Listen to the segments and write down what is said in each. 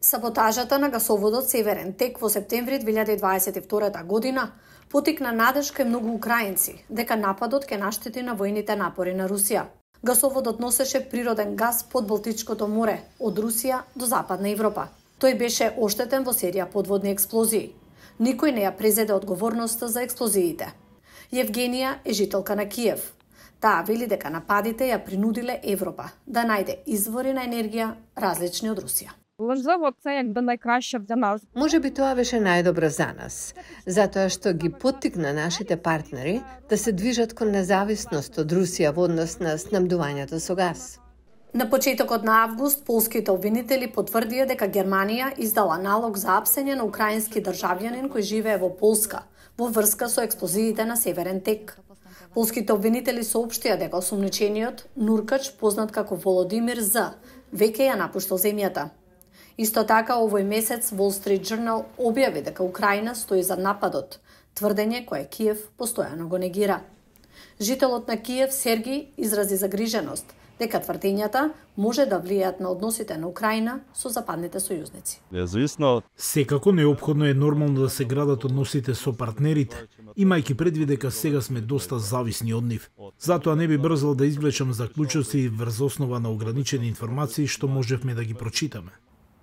Саботажата на гасоводот Северен тек во септември 2022 година потикна надеж кај многу украинци дека нападот ќе наштети на војните напори на Русија. Гасоводот носеше природен газ под Балтичкото море, од Русија до Западна Европа. Тој беше оштетен во серија подводни експлозии. Никој не ја презеде одговорноста за експлозиите. Евгенија е жителка на Киев. Таа вели дека нападите ја принудиле Европа да најде извори на енергија различни од Русија. Може би тоа беше најдобро за нас, затоа што ги поттикна нашите партнери да се движат кон независност од Русија во однос на снабдувањето со газ. На почетокот на август, полските обвинители потврдија дека Германија издала налог за апсење на украински државјанин кој живее во Полска во врска со експлозиите на Северен тек. Полските обвинители соопштија дека осомничениот Нуркач, познат како Володимир З, веќе ја напуштил земјата. Исто така, овој месец Wall Street Journal објави дека Украина стои за нападот, тврдење кое Киев постојано го негира. Жителот на Киев Сергиј изрази загриженост дека тврдењата може да влијаат на односите на Украина со западните сојузници. Секако неопходно е нормално да се градат односите со партнерите, имајќи предвид дека сега сме доста зависни од нив. Затоа не би брзал да извлечам заклучоци врз основа на ограничени информации што можевме да ги прочитаме.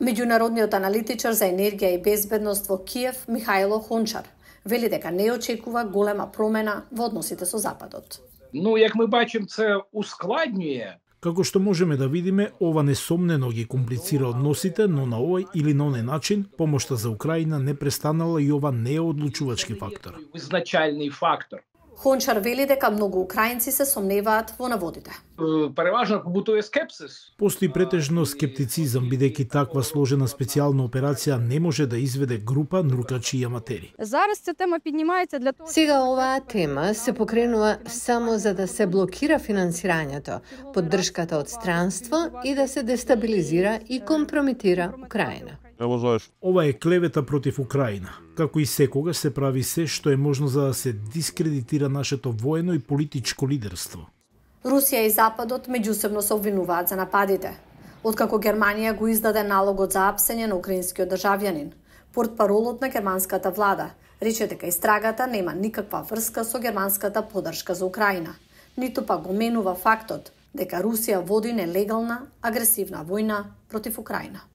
Меѓународниот аналитичар за енергија и безбедност во Киев Михајло Хончар вели дека не очекува голема промена во односите со Западот. Як ми бачим, це ускладнює. Како што можеме да видиме, ова несомнено ги комплицира односите, но на овој или на оној начин, помошта за Украина не престанала и ова не е одлучувачки фактор. Изначални фактор. Хончар вели дека многу украинци се сомневаат во наводите. Преважно побутуе скепсис. Постои претежно скептицизам, бидејќи таква сложена специјална операција не може да изведе група нуркачи и аматери. Сега оваа тема се покренува само за да се блокира финансирањето, поддршката од странство и да се дестабилизира и компрометира Украина. Ова е клевета против Украина. Како и секогаш се прави се што е можно за да се дискредитира нашето воено и политичко лидерство. Русија и Западот меѓусебно се обвинуваат за нападите. Откако Германија го издаде налогот за апсење на украинскиот државјанин, портпаролот на германската влада рече дека истрагата нема никаква врска со германската поддршка за Украина, ниту пак го менува фактот дека Русија води нелегална, агресивна војна против Украина.